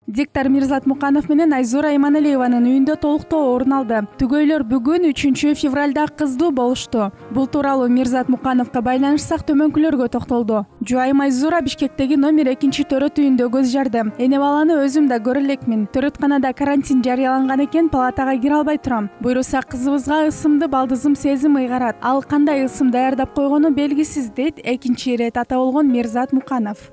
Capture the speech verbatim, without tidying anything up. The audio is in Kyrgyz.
Диктор Мирзат Муканов менен Айзура Иманалиеванын үйүндө толуктоо орун алды. Түгөйлөр бүгүн үчүнчү февралда кыздуу болушту. Бул тууралуу Мирзат Мукановго байланышсак төмөнкүлөргө токтолду. Жубайым Айзура Бишкектеги номер экинчи төрөт үйүндө көз жарды. Эне баланы өзүм да көрө элекмин. Төрөтканада карантин жарыяланган экен, палатага кире албай турам. Буйруса кызыбызга ысымды балдызым сезим ыйгарат. Ал кандай ысым даярдап койгону белгисиз, дейт экинчи ирет ата болгон Мирзат Муканов.